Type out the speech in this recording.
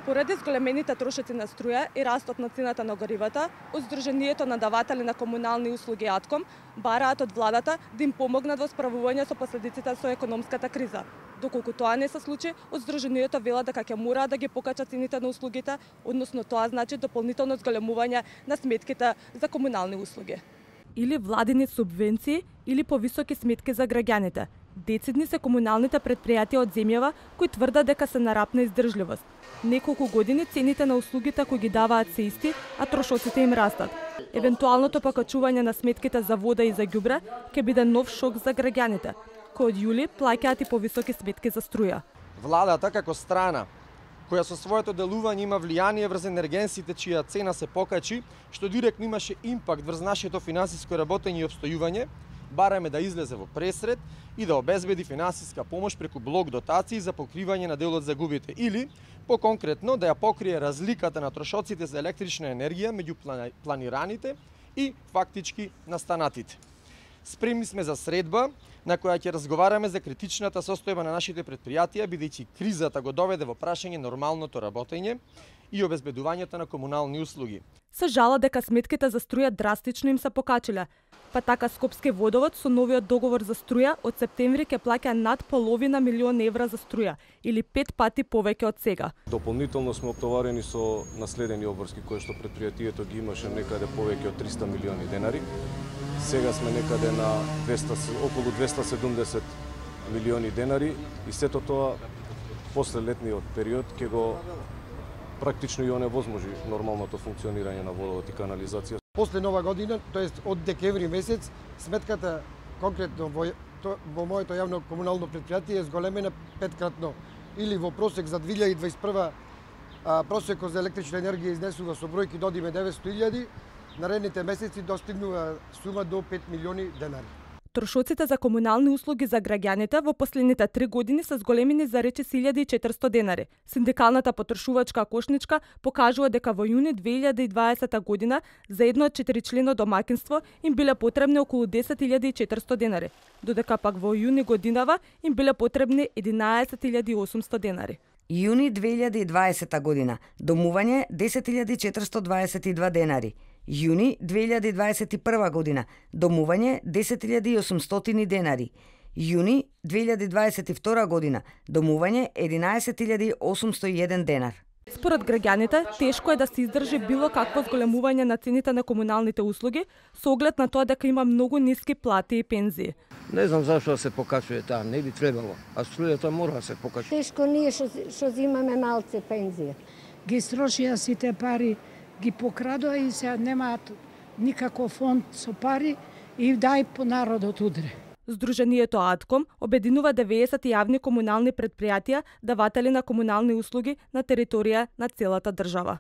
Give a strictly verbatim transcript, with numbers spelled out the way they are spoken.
Поради зголемените трошоци на струја и растот на цената на горивата, од Сдруженијето на даватели на комунални услуги АТКОМ бараат од владата да им помогнат во справување со последиците со економската криза. Доколку тоа не се случи, од Сдруженијето велат дека ќе мораат да ги покачат цените на услугите, односно тоа значи дополнително зголемување на сметките за комунални услуги. Или владини субвенции, или повисоки сметки за граѓаните. Децидни се комуналните предпријатија од земјава кои тврдат дека се на рапна издржливост. Неколку години цените на услугите кои ги даваат се исти, а трошоците им растат. Евентуалното покачување на сметките за вода и за ѓубре ќе биде нов шок за граѓаните, кои од јули плаќаат и повисоки сметки за струја. Владата како страна која со своето делување има влијание врз енергенсите чија цена се покачи, што директно имаше импакт врз нашето финансиско работење и обстојување, бараме да излезе во пресред и да обезбеди финансиска помош преку блок дотации за покривање на дел од загубите или, поконкретно, да ја покрие разликата на трошоците за електрична енергија меѓу планираните и фактички настанатите. Спремни сме за средба на која ќе разговараме за критичната состојба на нашите предпријатија, бидејќи кризата го доведе во прашање нормалното работење и обезбедувањето на комунални услуги. Се жала дека сметките за струја драстично им се покачиле, па така Скопски водовод со новиот договор за струја од септември ќе плаќа над половина милион евра за струја, или пет пати повеќе од сега. Дополнително сме оптоварени со наследени обврски кои што предпријатието ги имаше некаде повеќе од триста милиони денари. Сега сме некаде на двеста, околу двеста седумдесет милиони денари и сето тоа после летниот период ќе го практично и оневозможи нормалното функционирање на водовод и канализација. После нова година, тоест од декември месец, сметката конкретно во, во моето јавно комунално предпријатие е зголемена петкратно. Или во просек за две илјади дваесет и прва а, просекот за електрична енергија изнесува со бројки до деветстотини илјади, наредните месеци достигнува сума до пет милиони денари. Трошоците за комунални услуги за граѓаните во последните три години се зголемени за речиси илјада и четиристотини денари. Синдикалната потрошувачка кошничка покажува дека во јуни две илјади и дваесета година за едно од четиричлено домаќинство им биле потребни околу десет илјади и четиристотини денари, додека пак во јуни годинава им биле потребни единаесет илјади и осумстотини денари. Јуни две илјади и дваесета година домување десет илјади четиристотини дваесет и два денари. Јуни две илјади и дваесет и прва година домување десет илјади и осумстотини денари. Јуни две илјади дваесет и втора година домување единаесет илјади осумстотини и еден денар. Според граѓаните, тешко е да се издржи било какво зголемување на цените на комуналните услуги со оглед на тоа дека има многу ниски плати и пензии. Не знам зашто се покачува таа, не би требало, а струјата мора да се покачува. Тешко ние што што земаме малце пензија. Ги строшија сите пари, ги покрадоа и се немаат никаков фонд со пари и дај по народот удре. Сдруженијето АТКОМ обединува деветдесет јавни комунални предпријатија даватели на комунални услуги на територија на целата држава.